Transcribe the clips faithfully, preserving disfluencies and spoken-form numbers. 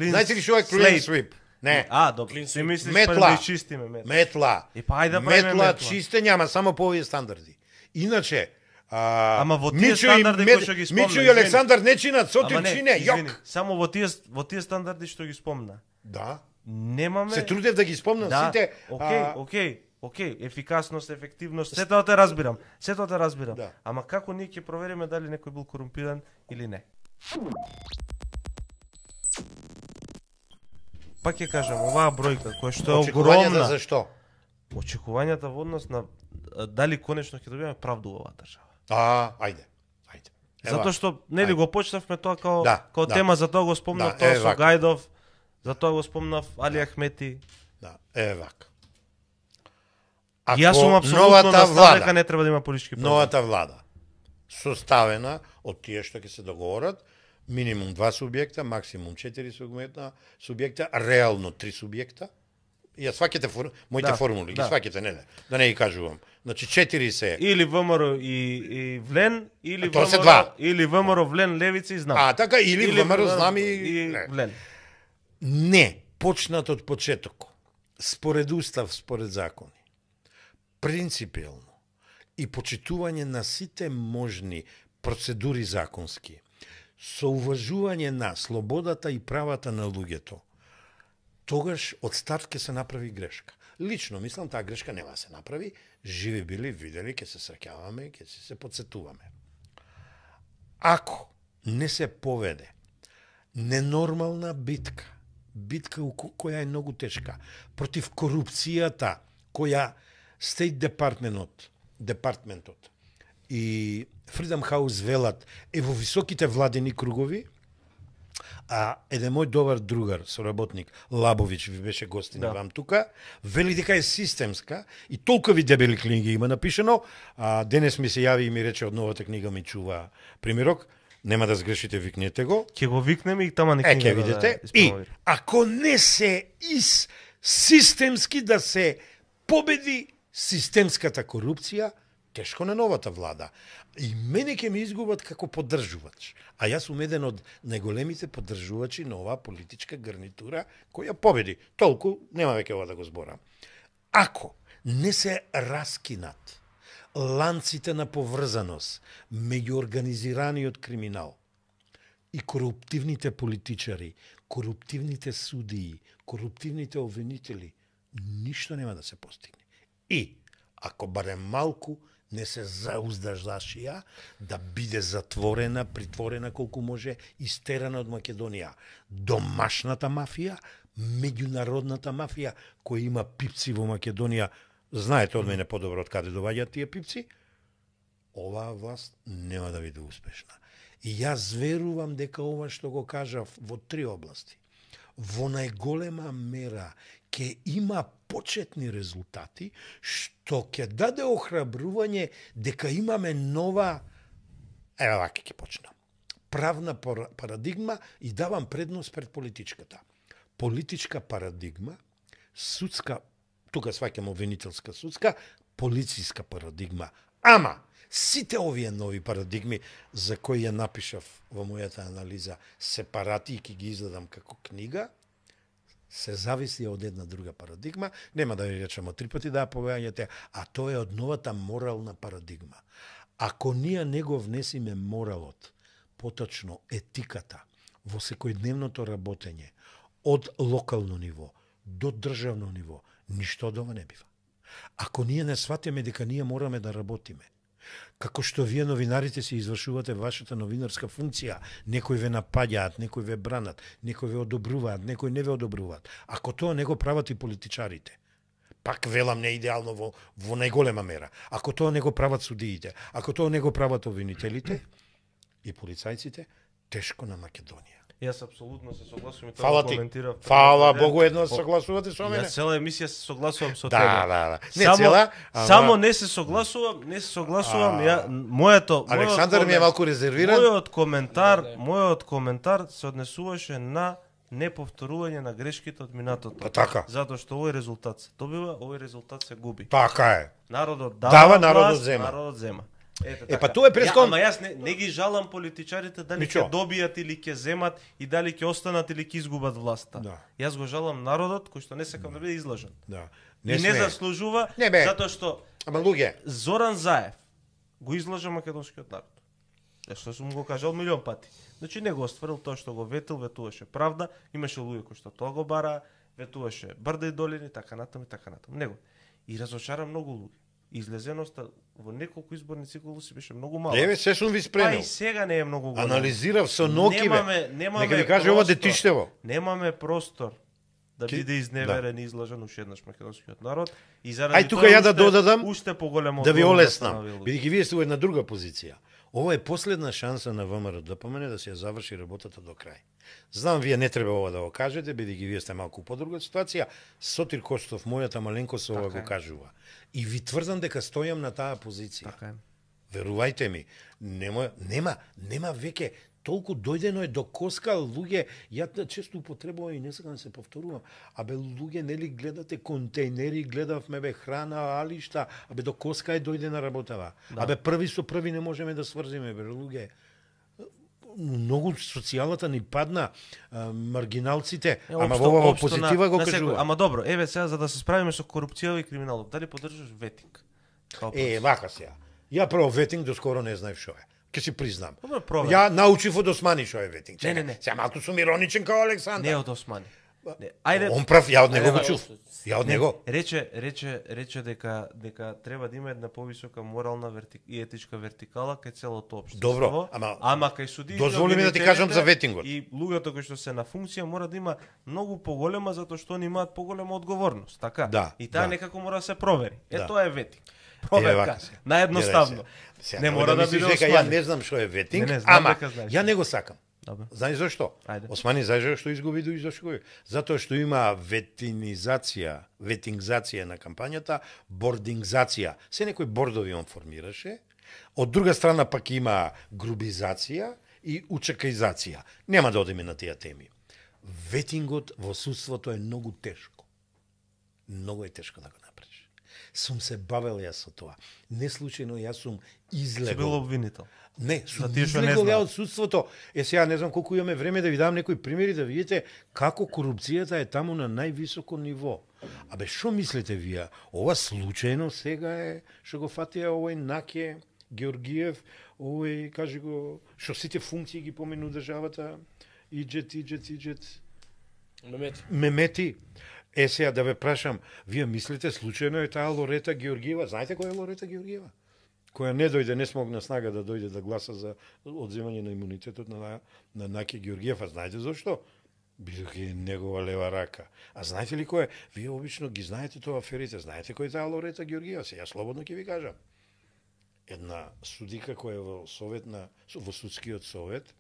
Знаете ли што е clean sweep? Не. А, добро. Си мислиш метла. па да чистиме метла. Метла. И па ајде да правиме метла. метла. Чистење, ама само по овие стандарди. Иначе, а, Ама во тие Мичо стандарди и кои Мед- што ги спомна, Мичо и извини. Александар не чинат, Сотир Ама не, чине, извини, јок. само во тие во тие стандарди што ги спомна. Да. Немаме. Се трудев да ги спомнам Да, сите. окей, а, окей, окей, ефикасност, ефективност, сето тоа те разбирам. Сето те разбирам. Да. Ама како ние ќе провериме дали некој бил корумпиран или не? Пак ќе кажам, оваа бројка која што е Очекувањата огромна, за што? очекувањата во однос на а, дали конечно ќе добиеме правду во оваа држава. А, ајде. Ајде. Ева. Затоа што нели ајде. го почнавме тоа као Да, као да. тема, за тоа го спомнав Да, тоа е, со вака. Гајдов, за тоа го спомнав Али Ахмети. Да, е вака. И јас сум апсолутно новата на став дека влада, не треба да има политички проблеми. новата влада составена од тие што ќе се договорат, минимум два субјекта, максимум четири субјекта, субјекта, реално три субјекта. Ја сваќате фор... моите Да, формули, да. ги сваќате, не, не, да не ги кажувам. Значи четири се. Или ВМРО и, и Влен, или А тоа се ВМРО, два. или ВМРО Влен Левица и знам. А така или, или ВМРО знам и, и не. Влен. Не, почнат од почеток. Според устав, според закони. Принципиелно и почитување на сите можни процедури законски, со уважување на слободата и правата на луѓето, тогаш од старт ќе се направи грешка. Лично мислам таа грешка нема да се направи, живи били, видели, ќе се среќаваме, ќе се, се подсетуваме. Ако не се поведе ненормална битка, битка у ко- која е многу тешка, против корупцијата, која State Departmentот, департментот и Freedom House велат е во високите владени кругови, а еден мој добар другар, соработник, Лабович, ви беше гостин Да. вам тука, вели дека е системска и толкови дебели книги има напишано, а денес ми се јави и ми рече од новата книга ми чува примерок, нема да сгрешите, викнете го. Ќе го викнеме и тама Е, нека ќе видите. И ако не се из системски да се победи системската корупција, тешко на новата влада. И мене ќе ме изгубат како поддржувач. А јас сум еден од најголемите поддржувачи на оваа политичка гарнитура која победи. Толку, нема веќе ова да го зборам. Ако не се раскинат ланците на поврзаност меѓу организираниот криминал и коруптивните политичари, коруптивните судии, коруптивните обвинители, ништо нема да се постигне. И, ако барем малку не се зауздаждашија да биде затворена, притворена колку може, истерана од Македонија. Домашната мафија, меѓународната мафија, која има пипци во Македонија, знаете од мене подобро од каде доаѓаат тие пипци, оваа власт нема да биде успешна. И јас верувам дека ова што го кажав во три области, во најголема мера ќе има почетни резултати, што ќе даде охрабрување дека имаме нова, еве вака ќе почнам, правна парадигма и давам предност пред политичката. Политичка парадигма, судска, тука сваќам обвинителска судска, полициска парадигма. Ама, сите овие нови парадигми за кои ја напишав во мојата анализа сепарати и ќе ги издадам како книга, се зависи од една друга парадигма, нема да ви речеме три пати да ја повеќе, а тоа е од новата морална парадигма. Ако ние не го внесиме моралот, поточно етиката, во секојдневното работење, од локално ниво до државно ниво, ништо од ова не бива. Ако ние не сватиме дека ние мораме да работиме, како што вие новинарите си извршувате вашата новинарска функција, некои ве напаѓаат, некои ве бранат, некои ве одобруваат, некои не ве одобруваат. Ако тоа не го прават и политичарите, пак велам не идеално во, во најголема мера, ако тоа не го прават судиите, ако тоа не го прават обвинителите и полицајците, тешко на Македонија. Јас апсолутно се согласувам и тоа Фала го ти. коментирав. Фала Богу, едно согласувате со мене. Јас цела емисија се согласувам со Да, тебе. да, да. Не само, цела, ама- само не се согласувам, не се согласувам, А, ја моето Александар мојот ми е комен- малку резервиран. Мојот коментар, мојот коментар се однесуваше на неповторување на грешките од минатото. Па така. Затоа што овој резултат се добива, овој резултат се губи. Така е. Народот дава, Дава, народот власт, зема. Народот зема. Ете, Е, така. па тоа е прескон... Ја, ама јас не, не ги жалам политичарите дали Ничо. ќе добијат или ќе земат и дали ќе останат или ќе изгубат власта. Да. Јас го жалам народот кој што не сакам да биде излажен. Да. Не, и не сме. заслужува, Не, бе. затоа што Ама луѓе, Зоран Заев го излажа македонскиот народ. Е, што сум го кажал милион пати. Значи не го остварил тоа што го ветил, ветуваше правда, имаше луѓе кои што тоа го бара, ветуваше брда и долини, така натаму и така натаму. Него. И разочара многу луѓе. Излезеноста во неколку изборни циклуси беше многу мала. еве се сум ви Па спремил. и сега не е многу голема. Анализирав со ноки, Немаме, бе. немаме Нека ви каже ова простор. детиштево. Немаме простор да Ки- биде изневерен и излажен уште еднаш македонскиот народ и заради Ај тука тоа ја да уште- додадам, уште поголемо Да ви одговорност олеснам, станови луѓе. бидејќи вие сте во една друга позиција. Ова е последна шанса на ВМРО да помене да се ја заврши работата до крај. Знам, вие не треба ова да го кажете, бидејќи вие сте малку по друга ситуација. Сотир Костов, мојата маленкост, ова Така го е. кажува. И ви тврдам дека стојам на таа позиција. Така е. Верувајте ми, нема, нема, нема веќе толку дојдено е до коска луѓе, ја често употребувам и не сакам да се повторувам, абе луѓе нели гледате контейнери, гледавме бе храна, алишта, абе до коска е дојдена работава. Да. Абе први со први не можеме да сврзиме бе луѓе. Многу социјалата ни падна, а, маргиналците, Е, ама општо- во ова општо позитива на- го на секој- кажува. Ама добро, еве сега за да се справиме со корупцијава и криминалот, дали поддржаш ветинг? Као Е, вака сега. Ја прво ветинг до скоро не знаев што е. Ке си признам. Добро, провер. Ја научив од Османи што е ветинг. Не, Чекај, не, не. Сега малку сум ироничен као Александар. Не од Османи. Не, ајде. Он прав, ја од него Ајде, го да. чув. Ја од Не, него. Рече, рече, рече дека дека треба да има една повисока морална верти... и етичка вертикала кај целото општество. Добро, ама- ама кај судиите, Дозволи ми да ти обвинителите кажам за ветингот. И луѓето кои што се на функција мора да има многу поголема затоа што они имаат поголема одговорност, така? Да, и таа да. некако мора да се провери. Е Да. тоа е ветинг. Еве Проверка. вака се. Наедноставно. Гледај се. Сега, Не немој мора да мислиш биде дека ја Османи. не знам што е ветинг, Не, не, знам ама дека знаеш. ја не го сакам. Добро. Знаеш зашто? Ајде. Османи знаеш што изгуби до зашто? Затоа што има ветинизација, ветингзација на кампањата, бордингзација. Се некои бордови он формираше. Од друга страна пак има грубизација и учекаизација. Нема да одиме на тие теми. Ветингот во судството е многу тешко. Многу е тешко да го направиш. Сум се бавел јас со тоа. Не случајно јас сум Си бил излегол. обвинител. Не, сум За тие што не излегол ја знаат. од судството. Е, сега не знам колку имаме време да ви дам некои примери да видите како корупцијата е таму на највисоко ниво. Абе, што мислите вие? Ова случајно сега е што го фатија овој Наке Георгиев, овој, кажи го, што сите функции ги помену државата, иджет, иджет, иджет, Мемети. Мемети. Е, сега да ве прашам, вие мислите случајно е таа Лорета Георгиева? Знаете која е Лорета Георгиева? Која не дојде, не смогна снага да дојде да гласа за одземање на имунитетот на, на Наке Георгиев. А знаете зашто? Бидејќи е негова лева рака. А знаете ли кој е? Вие обично ги знаете тоа аферите. Знаете кој е таа Лорета Георгиева? Се, ја слободно ќе ви кажам. Една судика која е во совет на, во судскиот совет,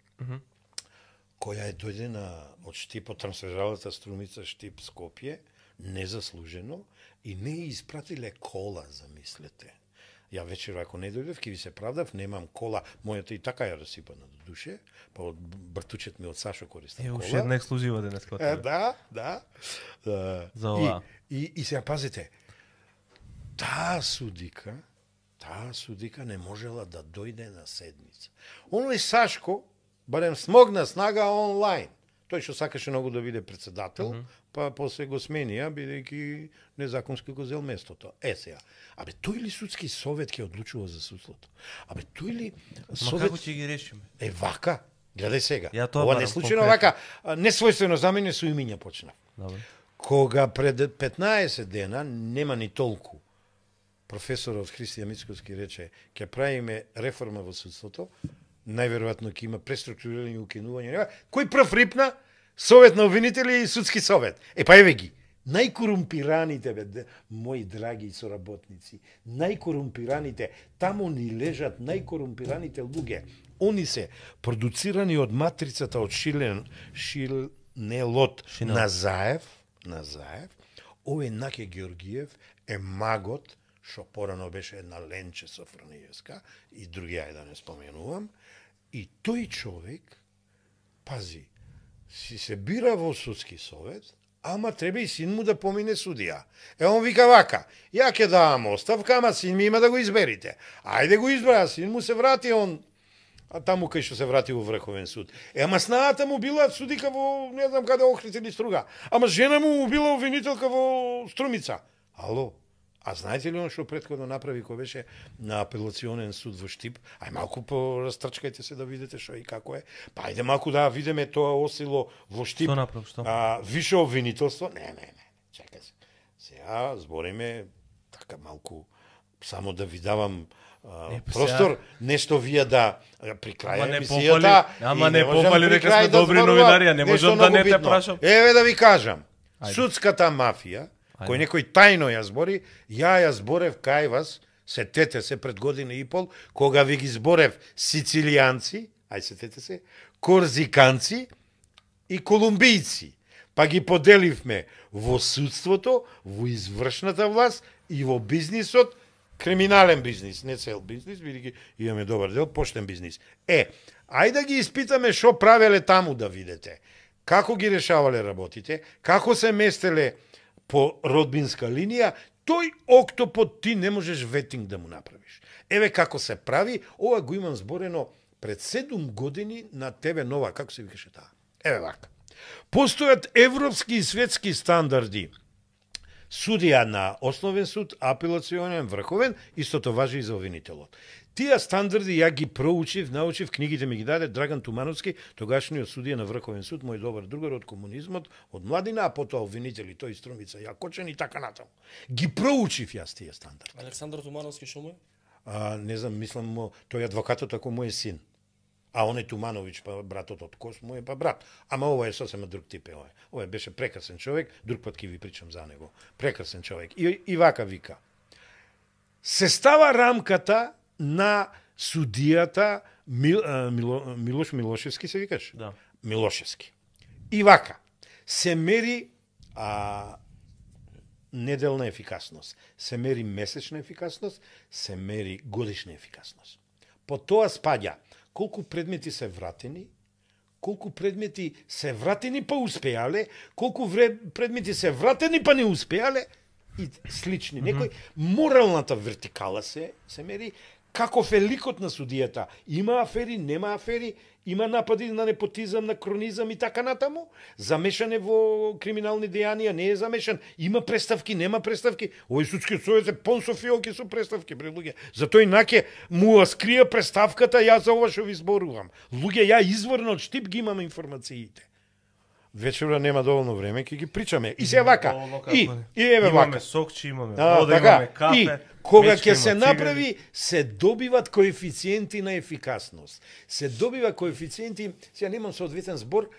која е дојдена од Штип, од трансферзалата Струмица Штип Скопје, незаслужено, и не ја испратиле кола, замислете. Ја вечер, ако не дојдев, ќе ви се правдав, немам кола, мојата и така ја расипана до душе, па од бртучет ми од Сашо користам Е, кола. уште една ексклузива денес кога Е, тебе. да, да. да. За ова. И, и, и сега пазите, таа судика, таа судика не можела да дојде на седница. Оној Сашко, барем смогна снага онлайн. Тој што сакаше многу да биде председател, mm -hmm. па после го сменија, бидејќи незаконски го зел местото. Е сега, абе тој ли судски совет ќе одлучува за судството? Абе тој ли Ма совет... како ќе ги решиме? Е, вака, гледај сега. Ја тоа Ова барам, не случајно конкретно. вака, а, несвојствено за мене со имиња почнав. Добро. Кога пред петнаесет дена, нема ни толку, професорот Христијан Мицковски рече, ќе правиме реформа во судството, најверојатно ќе има преструктурирање и укинување. Кој прв рипна? Совет на обвинители и судски совет. Е, па еве ги. Најкорумпираните, бе, де- мои драги соработници, најкорумпираните, таму ни лежат најкорумпираните луѓе. Они се продуцирани од матрицата од Шилен, Шилнелот Шинел. на Заев, на Заев. Овој Наке Георгиев е магот, што порано беше една Ленче Софрониевска и други, ајде да не споменувам. И тој човек, пази, си се бира во судски совет, ама треба и син му да помине судија. Е, он вика вака, ја ќе давам оставка, ама син ми има да го изберите. Ајде го избра, син му се врати, он а таму кај што се врати во Врховен суд. Е, ама снаата му била судика во, не знам каде, Охрид или Струга. Ама жена му била обвинителка во Струмица. Ало, а знаете ли он што претходно направи кој беше на апелационен суд во Штип? Ај малку порастрчкајте се да видите што и како е. Па ајде малку да видиме тоа осило во Штип. Што направи, што? А, више обвинителство? Не, не, не. Чекај се. Сега збориме така малку само да ви давам Uh, не, простор, сега... нешто вие да при крај ама емисијата, ама не пофали дека сме добри новинари, не можам да не те прашам. Еве да ви кажам, Ајде. Судската мафија, Ајде. кој некој тајно ја збори, ја ја зборев кај вас, сетете се пред година и пол, кога ви ги зборев сицилијанци, ај сетете се, корзиканци и колумбијци, па ги поделивме во судството, во извршната власт и во бизнисот, криминален бизнис, не цел бизнис, бидејќи имаме добар дел, поштен бизнис. Е, ајде да ги испитаме што правеле таму да видите. Како ги решавале работите, како се местеле по родбинска линија, тој октопод ти не можеш ветинг да му направиш. Еве како се прави, ова го имам зборено пред седум години на тебе нова, како се викаше таа. Еве вака. Постојат европски и светски стандарди. Судија на основен суд, апелационен, врховен, истото важи и за обвинителот. Тие стандарди ја ги проучив, научив, книгите ми ги даде Драган Тумановски, тогашниот судија на Врховен суд, мој добар другар од комунизмот, од младина, а потоа обвинители, тој Струмица, Јакочен и така натаму. Ги проучив јас тие стандарди. Александар Тумановски што му е? А, не знам, мислам, тој адвокатот ако му е син. А он е Тумановиќ, па братот од Кос му е па брат. Ама ова е сосема друг тип е ова. Ова беше прекрасен човек, друг пат ќе ви причам за него. Прекрасен човек. И, и вака вика. Се става рамката на судијата Мил, а, Мило, Милош Милошевски се викаш? Да. Милошевски. И вака. Се мери а, неделна ефикасност, се мери месечна ефикасност, се мери годишна ефикасност. По тоа спаѓа колку предмети се вратени, колку предмети се вратени па успеале, колку вре... предмети се вратени па не успеале и слични. Некој моралната вертикала се се мери, каков е ликот на судијата. Има афери, нема афери, има напади на непотизам, на кронизам и така натаму. Замешан е во криминални дејанија, не е замешан. Има преставки, нема преставки. Овој судскиот совет е пон со фиолки со преставки, бре луѓе. Затоа инаке му скрија преставката, ја за ова што ви зборувам. Луѓе, ја изворно од Штип ги имам информациите. Вечера нема доволно време, ќе ги причаме. И се вака. И, и еве вака. Имаме сокчи, имаме А, вода, така, имаме кафе. И кога мечка ќе се има, направи, цигари. се добиват коефициенти на ефикасност. Се добива коефициенти, сега немам соодветен збор,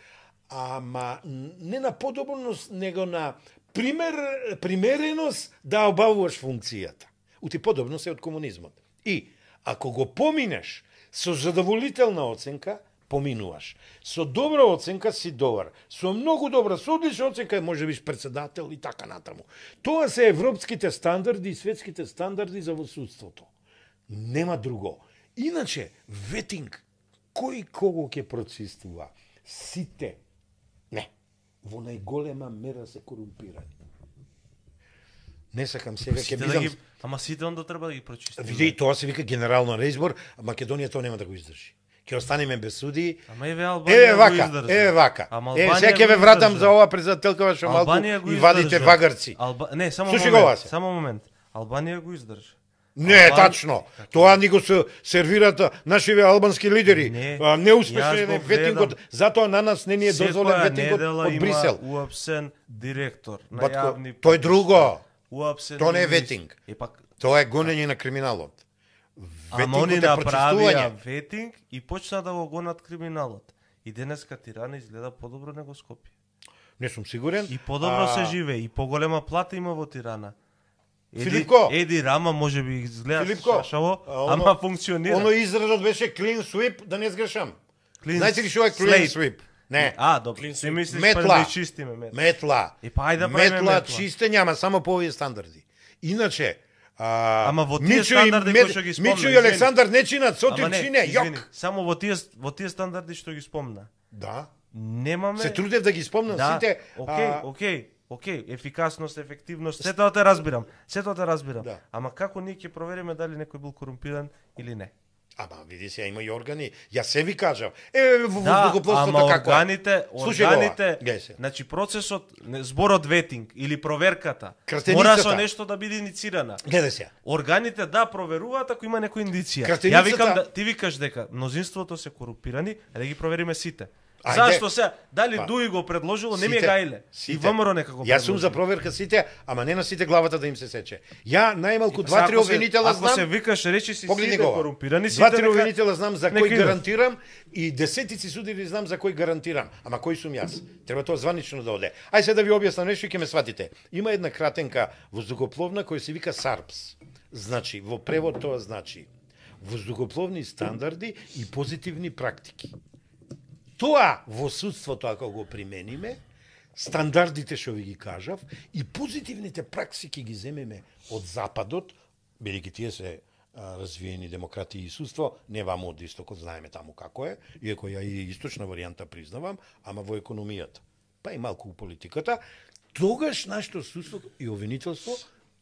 ама не на подобрност, него на пример, примереност да обавуваш функцијата. Ути подобно се од комунизмот. И ако го поминеш со задоволителна оценка, поминуваш. Со добра оценка си добар. Со многу добра, со одлична оценка може биш председател и така натаму. Тоа се европските стандарди и светските стандарди за во судството. Нема друго. Иначе, ветинг, кој кого ќе прочистува? Сите. Не. Во најголема мера се корумпирани. Не сакам сега ќе Сите да бидам... ги, ама сите онда треба да ги прочистиме. Види, тоа се вика генерално реизбор, а Македонија тоа нема да го издржи. Ќе останеме без суди. Ама еве Албанија Еве го вака, издржа. еве вака. Ама Еве, Албанија сега ќе го ве вратам издржа. за ова председателкава што малку Албанија го и вадите издржа. вагарци. Алба... Не, само Слушай момент. го, Васе. Само момент. Албанија го издржа. Не, Албан- тачно. Тоа ни го се сервират нашиве албански лидери. Не, А, неуспешен јас го е ветингот, гледам. затоа на нас не ни е дозволен Секоја ветингот недела од Брисел. има уапсен директор на Батко, јавни тоа е друго. Уапсен Тоа не е министр. ветинг. Е пак Тоа е гонење на криминалот. Ама они Ветингот е направија прочистување. ветинг и почна да го гонат криминалот. И денеска Тирана изгледа подобро него Скопје. Не сум сигурен. И подобро А, се живее, и поголема плата има во Тирана. Еди, Филипко! Еди Рама може би изгледа Филипко, шашаво, а, оно- ама функционира. Оно изразот беше clean sweep, да не сгрешам. Clean Знаете ли што е clean slate. sweep? Не. А, добро. Clean Ти sweep. мислиш Метла. па да чистиме метла. Метла. И па ајде да правиме метла, метла. чистење, ама само по овие стандарди. Иначе, а, Ама во тие Мичо и стандарди Мед- кои што ги спомна, Мичо и извини. Александар не чинат, Ама Сотир не, чине, извини, јок. само во тие во тие стандарди што ги спомна. Да. немаме... Се трудев да ги спомнам да, сите. окей, а... окей, окей, ефикасност, ефективност, се тоа те разбирам. Се тоа те разбирам. Да. Ама како ние ќе провериме дали некој бил корумпиран или не? Ама види се, има и органи. Јас се ви кажав. Е, во Да, воздухопловството ама како е? органите, Слушај органите, ова, гледај се. значи процесот, не, зборот ветинг или проверката, Кратеницата. мора со нешто да биде иницирана. Гледај се. Органите да проверуваат ако има некоја индиција. Кратеницата- Ја викам да ти викаш дека мнозинството се корумпирани, а да ги провериме сите. Ајде. Зашто се дали Па, Дуи го предложило, не ми е сите- гајле. И сите. ВМРО нека го Јас сум за предложи. проверка сите, ама не на сите главата да им се сече. Ја најмалку Сега, два-три ако се- обвинителя Ако се знам. викаш речи си Погледни сите го ова. корумпирани, сите Два-три нека- обвинителя знам за нека кој идат. гарантирам и десетици судири знам за кој гарантирам. Ама кој сум јас? Треба тоа званично да оде. Ај се да ви објаснам нешто и ќе ме сватите. Има една кратенка воздухопловна која се вика САРПС. Значи, во превод тоа значи воздухопловни стандарди и позитивни практики. Тоа во судството ако го примениме, стандардите што ви ги кажав и позитивните практики ги земеме од западот, бидејќи тие се а, развиени демократии и судство, не ваму од истокот, знаеме таму како е, иако ја и источна варијанта признавам, ама во економијата, па и малку у политиката, тогаш нашето судство и обвинителство,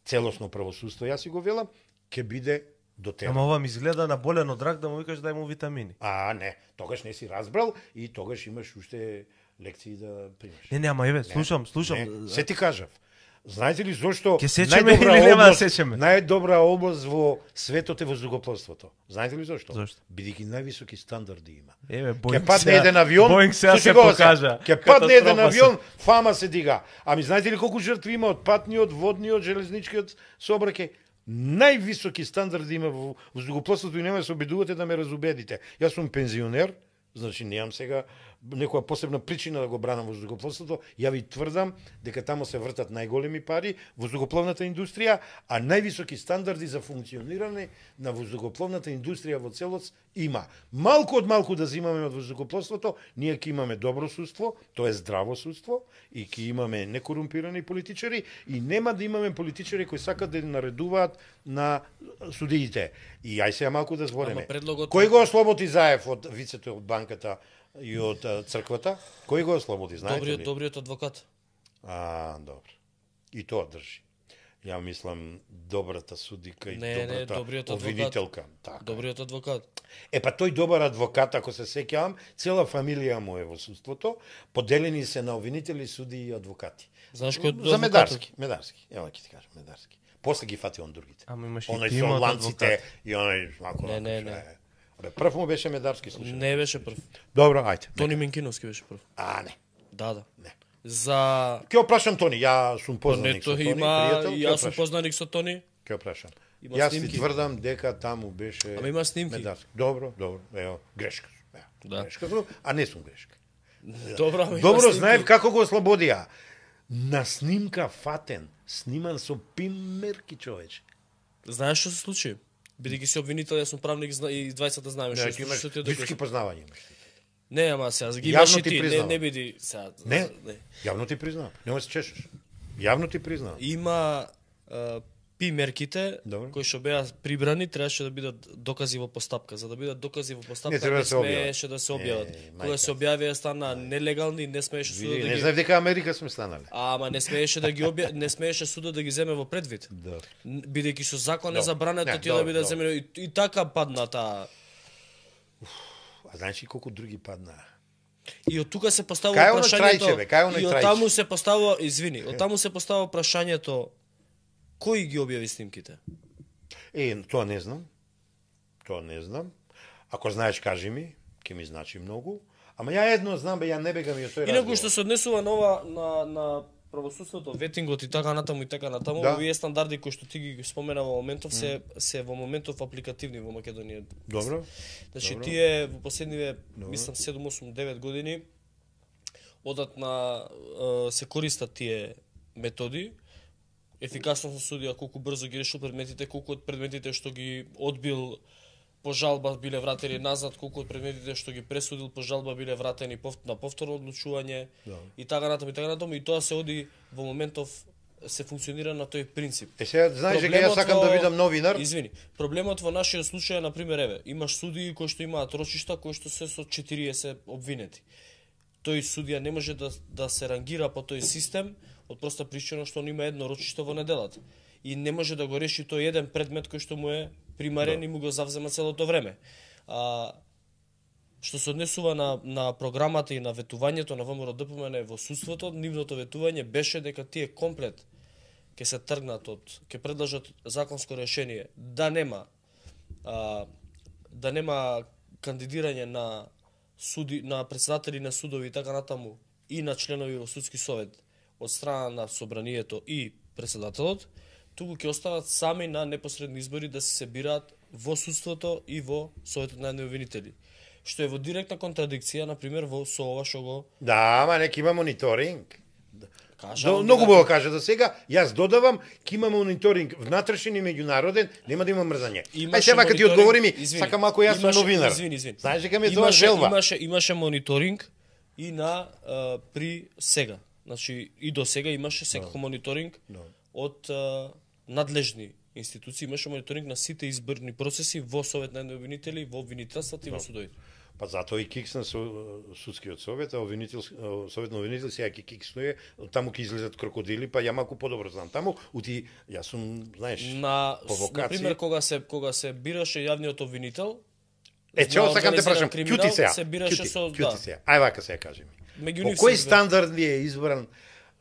целосно правосудство, јас си го велам, ќе биде до тера. Ама ова ми изгледа на болен од рак да му викаш дај му витамини. А, не, тогаш не си разбрал и тогаш имаш уште лекции да примеш. Не, не, ама еве, слушам, слушам. Не, се ти кажав. Знаете ли зошто Ќе сечеме најдобра или нема да област, сечеме? најдобра област во светот е воздухопловството? Знаете ли зошто? Зошто? Бидејќи највисоки стандарди има. Еве, Ќе Боинг падне сега- еден авион, Боинг сега слушај се го, покажа. Ќе падне еден Катастрофа се. авион, фама се дига. Ами знаете ли колку жртви има од патниот, водниот, железничкиот сообраќај? Највисоки стандарди има во воздухопловството и нема да се обидувате да ме разубедите. Јас сум пензионер, значи немам сега некоја посебна причина да го бранам воздухопловството. Ја ви тврдам дека таму се вртат најголеми пари, воздухопловната индустрија, а највисоки стандарди за функционирање на воздухопловната индустрија во целост има. Малку од малку да земаме од воздухопловството, ние ќе имаме добро судство, тоа е здраво судство, и ќе имаме некорумпирани политичари, и нема да имаме политичари кои сакат да наредуваат на судиите. И ај сега малку да збореме. Ама предлогот- Кој го ослободи Заев од вицето од банката и од а, црквата? Кој го ослободи, знаете Добриот, ли? добриот адвокат. А, добро. И тоа држи. Ја мислам добрата судика и Не, не, добрата добриот адвокат. обвинителка. Така. Добриот адвокат. Е, па тој добар адвокат, ако се сеќавам, цела фамилија му е во судството, поделени се на обвинители, суди и адвокати. Знаеш кој е За адвокатот? Медарски, Медарски. Ева ќе ти кажам, Медарски. После ги фати он другите. Ама имаш и Оној тим со од ланците адвокати. и оној малку. Не, не, вака, не. е. Абе, прв му беше Медарски, слушај. Не беше прв. Добро, ајде. Тони Минкиновски беше прв. А, не. Да, да. Не. За Ќе опрашам Тони, ја сум не познаник со тоа Тони, има пријател, и ќе јас сум опрашам. познаник со Тони. Ќе опрашам. Има Јас снимки. ти тврдам дека таму беше Ама има снимки. Медарски. Добро, добро. Ево, грешка сум. Ево, Да. грешка сум, а не сум грешка. Добро, ама има Добро, снимки. знаев како го ослободија. На снимка фатен, сниман со пимерки, човече. Знаеш што се случи? Бидејќи си обвинител, јас сум правник зна- и двајцата знаеме што Не, се ти случи, имаш што ти ја високи докажам. познавања имаш. Не, ама сега ги Јавно имаш и ти ти, не, признавам. не биди сега. Не, јавно ти признавам. Нема се чешеш. Јавно ти признавам. Има а, пи мерките Добро. кои што беа прибрани требаше да бидат докази во постапка. За да бидат докази во постапка Не треба не, да се објават. смееше да се објават. Е, Кога се објавија стана нелегални, не смееше судот Види, да не ги знаев дека Америка сме станале. Ама не смееше да ги обја... не смееше судот да ги земе во предвид. Да. Н- Бидејќи со закон е Добро. забрането Не, тие да добро, бидат добро. земени и, и така падна таа. А знаеш ли колку други паднаа? И од тука се поставува Кај оно прашањето. трајче, бе, кај оно и од трајче? таму се поставува, извини, од таму се поставува прашањето кој ги објави снимките? Е, тоа не знам. Тоа не знам. Ако знаеш, кажи ми, ќе ми значи многу. Ама ја едно знам, бе, ја не бегам и од тој Инаку разговор. што се однесува на ова на на правосудството, ветингот и така натаму и така натаму, Да. овие стандарди кои што ти ги спомена во моментов се се во моментов апликативни во Македонија. Добро. Значи Добро. тие во последниве мислам седум осум девет години одат на е, се користат тие методи. Ефикасно со судија колку брзо ги решил предметите, колку од предметите што ги одбил по жалба биле вратени назад, колку од предметите што ги пресудил по жалба биле вратени пов- на повторно одлучување Да. и така натаму и така натаму и тоа се оди во моментов се функционира на тој принцип. Е, сега знаеш дека ја Проблемот сакам во- да бидам новинар. Извини, проблемот во нашиот случај е на пример еве, имаш судии кои што имаат рочишта кои што се со четириесет обвинети. тој судија не може да, да се рангира по тој систем, од проста причина што он има едно рочиште во неделата. И не може да го реши тој еден предмет кој што му е примарен, да, и му го завзема целото време. А, што се однесува на, на програмата и на ветувањето на ВМРО-ДПМН во судството, нивното ветување беше дека тие комплет ќе се тргнат од, ќе предложат законско решение да нема а, да нема кандидирање на суди, на председатели на судови и така натаму и на членови во судски совет од страна на собранието и председателот, туку ќе остават сами на непосредни избори да се собираат во судството и во советот на обвинители. Што е во директна контрадикција, на пример, во со ова што го... Да, ама нека има мониторинг. Кажа, До, многу бо кажа до сега, јас додавам, ке има мониторинг внатрешен и меѓународен, нема да има мрзање. Ај сега кога ти одговори ми, сака малку јас сум новинар. Извини, извини. Знаеш дека ми тоа желба. Имаше имаше мониторинг и на а, при сега. Значи и до сега имаше секако no. мониторинг no. од а, надлежни институции, имаше мониторинг на сите изборни процеси во Совет на обвинители, во обвинителствата и no. во судовите. Па затоа и киксна со судскиот совет, а обвинител совет на обвинители сега ќе кикснуе, таму ќе излезат крокодили, па ја малку подобро знам. Таму ути јас сум, знаеш, на на пример кога се кога се бираше јавниот обвинител, е чео сакам те прашам, кјути сега, се бираше со да. Сега. Ај вака сега кажи ми. Меѓу По кој стандард е избран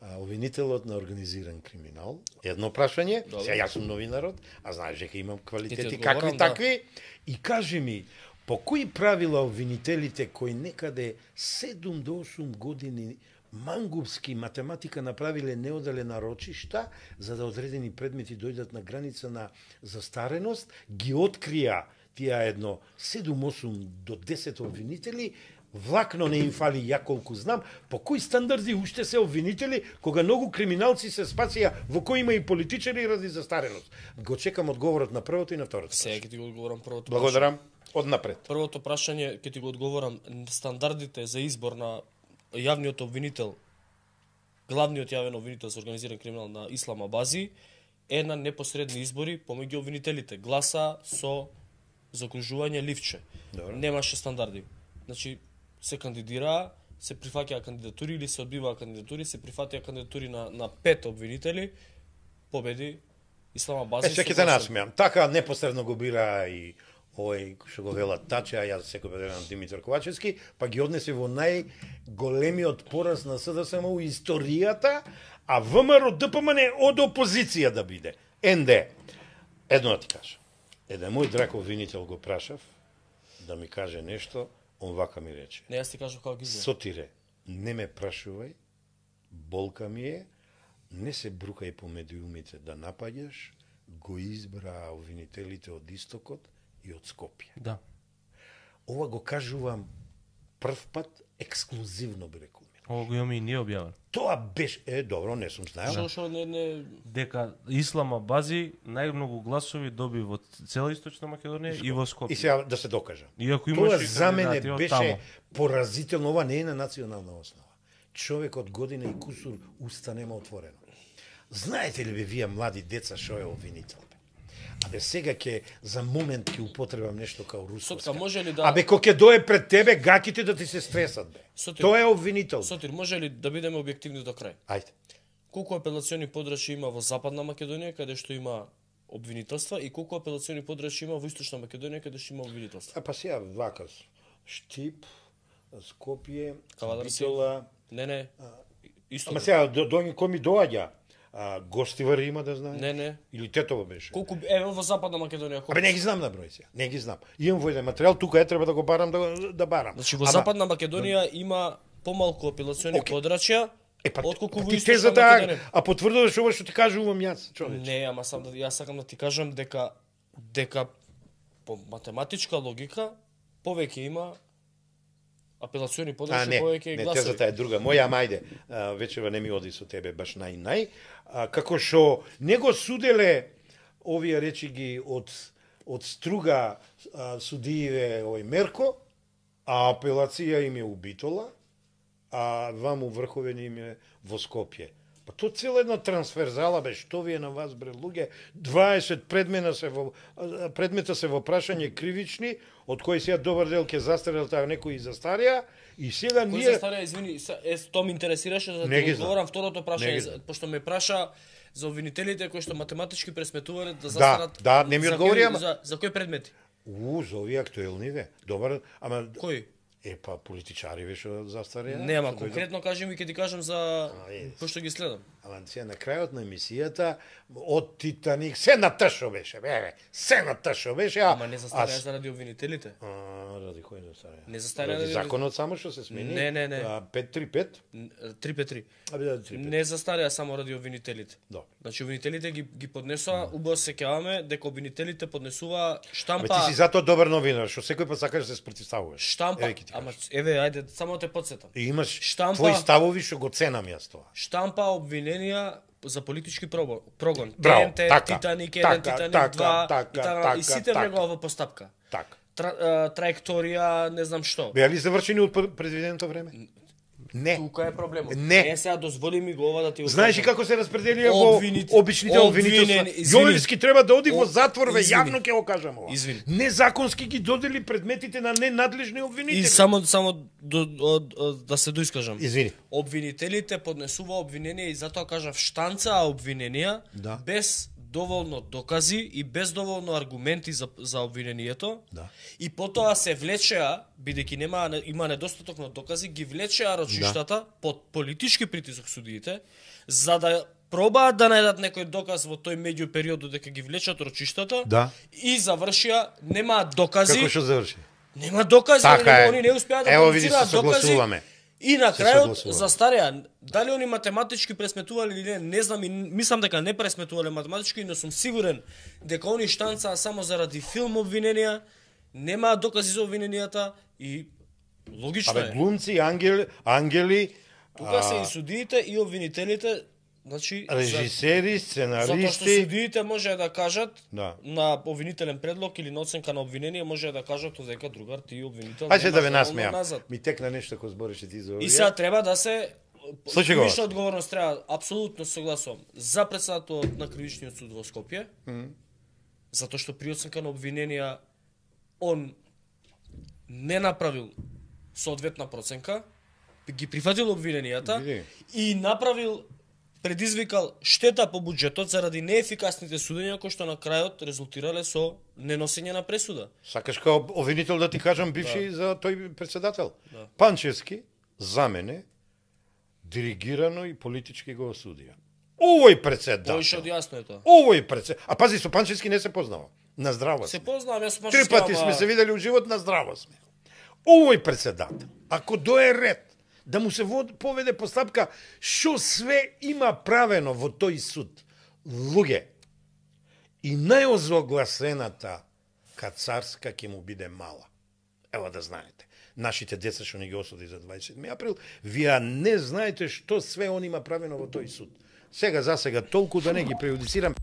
а, обвинителот на организиран криминал? Едно прашање, Добре. Сега јас сум новинарот, а знаеш дека имам квалитети какви да. такви, и кажи ми, по кои правила обвинителите кои некаде седум до осум години мангупски математика направиле неодалена рочишта за да одредени предмети дојдат на граница на застареност, ги открија тие едно седум осум до десет обвинители, влакно не им фали, ја колку знам, по кои стандарди уште се обвинители, кога многу криминалци се спасија, во кои има и политичари ради застареност. Го чекам одговорот на првото и на второто. Сега ќе ти го одговорам првото. Благодарам. Однапред. Првото прашање ќе ти го одговорам, стандардите за избор на јавниот обвинител, главниот јавен обвинител за организиран криминал на Ислама Бази е на непосредни избори помеѓу обвинителите. Гласа со закружување ливче. Добре. Немаше стандарди. Значи се кандидираа, се прифаќаа кандидатури или се одбиваа кандидатури, се прифатија кандидатури на на пет обвинители, победи Ислама Бази. Е, сега ќе те насмеам. Така непосредно го бира и овој што го велат Таче, а јас секој бедерам Димитар Ковачевски, па ги однесе во најголемиот пораз на СДСМ у историјата, а ВМРО-ДПМН од опозиција да биде. Ен де, едно да ти кажа. Еден мој драг обвинител го прашав да ми каже нешто, он вака ми рече. Не, јас ти кажав како ги знам. Сотире, не ме прашувај, болка ми е, не се брукај по медиумите да напаѓаш, го избра обвинителите од Истокот и од Скопје. Да. Ова го кажувам прв пат ексклузивно би рекол. Ова го имаме и ние објавено. Тоа беше е добро, не сум знаел. Што што не не дека Ислама Бази најмногу гласови доби во цела Источна Македонија и во Скопје. И сега да се докажа. Иако Тоа имаше за мене беше таму. поразително, ова не е на национална основа. Човек од година и кусур уста нема отворено. Знаете ли бе вие млади деца што е обвинител? Абе сега ќе за момент ќе употребам нешто као руско. Сотка, може ли да Абе кога ќе дое пред тебе гаките да ти се стресат бе. Сотир, Тоа е обвинител. Сотир, може ли да бидеме објективни до крај? Ајде. Колку апелациони подрачи има во Западна Македонија каде што има обвинителства и колку апелациони подрачи има во Источна Македонија каде што има обвинителства? А па сега вака Штип, Скопје, Кавадарци. Битола. Не, не. Исто. Ама сега до, до кој ми доаѓа? А, Гостивар има да знае? Не, не. Или Тетово беше? Колку ево во Западна Македонија колку? Абе не ги знам на број сега. Не ги знам. Имам во еден материјал, тука е треба да го барам да да барам. Значи во Ама, Западна Македонија има помалку апелациони Окей. подрачја. Е па отколку во ти Источна тезата, Македонија. а потврдуваш ова што ти кажувам јас, човече. Не, ама сам да јас сакам да ти кажам дека дека по математичка логика повеќе има апелациони А подрачи, не, повеќе не, гласови. тезата е друга. Моја, ама ајде, а, вечерва не ми оди со тебе баш нај-нај. А, како што не го суделе овие речи ги од од струга а, судиеве овој Мерко, а апелација им е у Битола, а ваму врховен им е во Скопје. Па то цела една трансферзала бе, што ви е на вас бре луѓе, дваесет предмета се во предмета се во прашање кривични, од кои сега добар дел ќе застарел, таа некои и застарија, и сега Кој ние застарија, извини, са- е тоа ме интересираше за да Не ти ги знам. одговорам второто Не прашање, ги за- знам. пошто ме праша за обвинителите кои што математички пресметувале да Да, застарат. да, не ми за одговори, кои- ама- За, за кои предмети? у, за овие актуелни ве. Добар, ама Кои? е па политичари ве што застарија. Не, ама што дојдат. конкретно кажем и ќе ти кажам за А, е. пошто ги следам. Ама сега на крајот на емисијата од Титаник се на тшо беше, бе, се на тшо беше, а Ама не застарија а, заради обвинителите. А, ради кој не застарија? Не застарија Ради ради- законот само што се смени. Не, не, не. А, пет три пет. три пет три. Абе да три пет. Не застарија само ради обвинителите. Добро. Значи обвинителите ги ги поднесоа, убаво се сеќаваме дека обвинителите поднесува Абе штампа. ти си затоа добар новинар, што секој пат сакаш да се спротивставуваш. Штампа, Еве ќе ти ама кажам. еве ајде само те потсетам. И имаш штампа- твои ставови што го ценам јас тоа. Штампа обвиненија за политички прогон. прогон. Браво, Т Н Т, така, Титаник еден, така, Титаник така, два, така, и така, така, и сите така. влегува во постапка. Така. Тра, а, траекторија, не знам што. Беа ли завршени од пр- предвиденото време? Не. Тука е проблемот. Не. Е, сега дозволи ми го ова да ти го Знаеш ли кажам. како се распределија во Обвинит- обичните обвинителства? обвинени- извини. Јовевски треба да оди во О, затвор, ве, извини. јавно ќе го кажам ова. Извини. Незаконски ги додели предметите на ненадлежни обвинители. И само само до, од, од, да се доискажам. Извини. Обвинителите поднесува обвиненија и затоа кажав штанцаа обвиненија Да. без доволно докази и без доволно аргументи за за обвинението. Да. И потоа се влечеа, бидејќи нема има недостаток на докази, ги влечеа рочиштата под политички притисок судиите за да пробаат да најдат некој доказ во тој меѓу период дека ги влечат рочиштата. Да. И завршија, немаат докази. Како што заврши? Нема докази, Така они, е. они не успеа да Ево, види, се продуцираат докази. согласуваме. И на Се крајот согласуваме. застарија. Дали они математички пресметувале или не, не знам и мислам дека не пресметувале математички, но сум сигурен дека они штанцаа само заради филм обвиненија, немаат докази за обвиненијата и логично Абе, е. глумци, ангели, ангели, Тука се а, и судиите и обвинителите, значи за- режисери, затоа што сценаристи. судиите може да кажат Да. на обвинителен предлог или на оценка на обвинение може да кажат дека другар ти обвинител. Ајде да ве немаш доволно насмеам. назад. Ми текна нешто кој збореше ти за овие. И сега треба да се Слушај го. Виша одговорност треба, апсолутно согласувам, за председателот на кривичниот суд во Скопје, Мгм. затоа што при оценка на обвиненија он не направил соодветна проценка, ги прифатил обвиненијата Види. и направил предизвикал штета по буџетот заради неефикасните судења кои што на крајот резултирале со неносење на пресуда. Сакаш као обвинител да ти кажам бивши за тој председател? Да. Панчевски, за мене, диригирано и политички го осудија. Овој председател. Тоа што јасно е тоа. Овој председател. А пази, со Панчевски не се познава. На здраво Се сме. познавам, јас сум Три пати сме се видели у живот, на здраво сме. Овој председател, ако дое ред да му се вод, поведе постапка што све има правено во тој суд, луѓе, и најозогласената кацарска ќе му биде мала. Ево да знаете. Нашите деца што ни ги осуди за дваесет и седми април, вие не знаете што све он има правено во тој суд. Сега за сега толку да не ги прејудицирам.